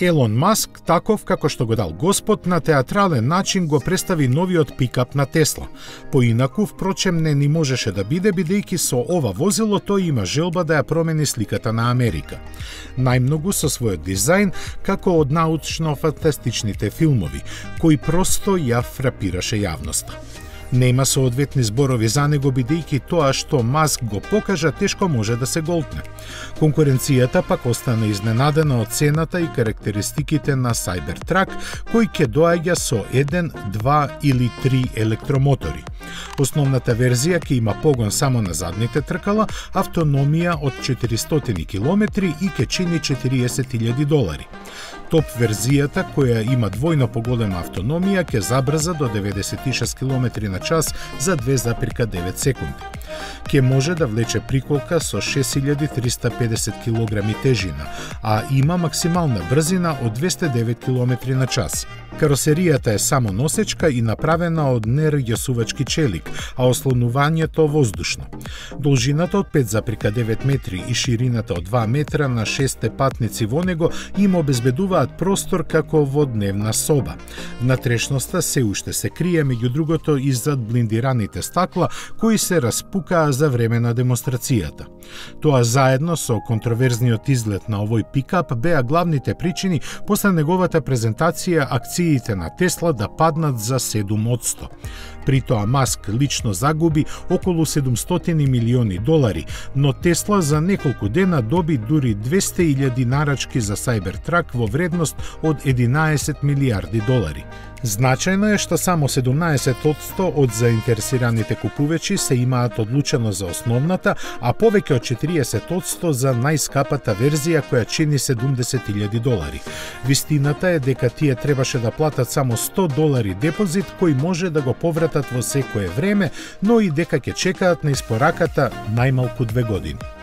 Елон Маск, таков како што го дал Господ, на театрален начин го представи новиот пикап на Тесла. Поинаку, впрочем, не ни можеше да биде, бидејќи со ова возило тој има желба да ја промени сликата на Америка. Најмногу со својот дизајн, како од научно-фантастичните филмови, кој просто ја фрапираше јавноста. Нема соодветни зборови за него, бидејќи тоа што Маск го покажа тешко може да се голтне. Конкуренцијата пак остана изненадена од цената и карактеристиките на Cybertruck, кој ќе доаѓа со 1, 2 или 3 електромотори. Основната верзија ќе има погон само на задните тркала, автономија од 400 км и ќе чини $40,000. Топ верзијата, која има двојно поголема автономија, ќе забрза до 96 км на час за 2,9 секунди. Ќе може да влече приколка со 6350 кг тежина, а има максимална брзина од 209 км на час. Каросеријата е само носечка и направена од нерѓосувачки челик, а ослонувањето воздушно. Должината од 5,9 метри и ширината од 2 метра на 6 патници во него им обезбедуваат простор како во дневна соба. Внатрешноста се уште се крие, меѓу другото, и зад блиндираните стакла кои се распукаа за време на демонстрацијата. Тоа заедно со контроверзниот изглед на овој пикап беа главните причини после неговата презентација акциите на Тесла да паднат за 7%. При тоа Маск лично загуби околу $700 милиони, но Тесла за неколку дена доби дури 200,000 нарачки за Cybertruck во вредност од $11 милиарди. Значајно е што само 17% од заинтересираните купувачи се имаат одлучено за основната, а повеќе од 40% за најскапата верзија која чини $70,000. Вистината е дека тие требаше да платат само $100 депозит кој може да го повратат во секое време, но и дека ќе чекаат на испораката најмалку 2 години.